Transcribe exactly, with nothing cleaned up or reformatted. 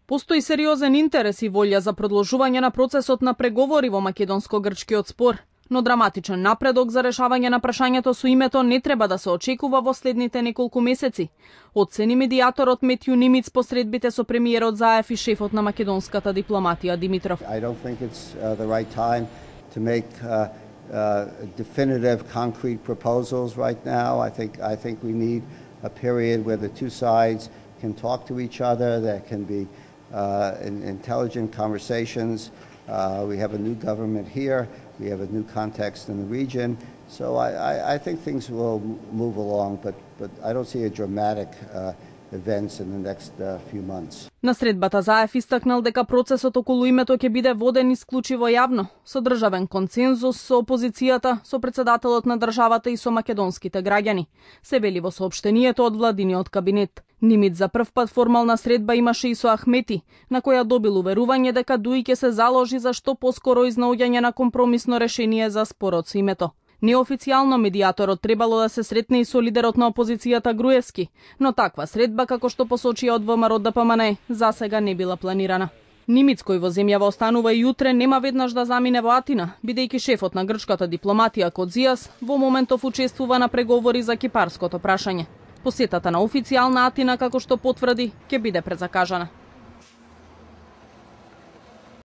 Постои сериозен интерес и волја за продолжување на процесот на преговори во македонско-грчкиот спор, но драматичен напредок за решавање на прашањето со името не треба да се очекува во следните неколку месеци, оцени медијаторот Метју Нимиц по средбите со премиерот Заев и шефот на македонската дипломатија Димитров. I don't think it's uh, the right time to make uh, uh, definitive concrete proposals right now. I think I think we need a period where the two sides can talk to each other, there can be uh, in, intelligent conversations. Uh, we have a new government here, we have a new context in the region, so I, I, I think things will move along, but, but I don't see a dramatic uh, events in the next uh, few months. На средбата Заев истакнал дека процесот околу името ќе биде воден исклучиво јавно, со државен консензус со опозицијата, со председателот на државата и со македонските граѓани, се вели во соопштението од владиниот кабинет. Нимиц за прв пат формална средба имаше и со Ахмети, на која добил уверување дека Дуи ќе се заложи за што поскоро изнаоѓање на компромисно решение за спорот со името. Неофицијално медијаторот требало да се сретне и со лидерот на опозицијата Груевски, но таква средба, како што посочија од ВМРО Д П М Н, засега не била планирана. Нимиц, кој во земјава останува и утре, нема веднаш да замине во Атина, бидејќи шефот на грчката дипломатија Кодзијас во моментов учествува на преговори за кипарското прашање. Посетата на официјална Атина, како што потврди, ќе биде презакажана.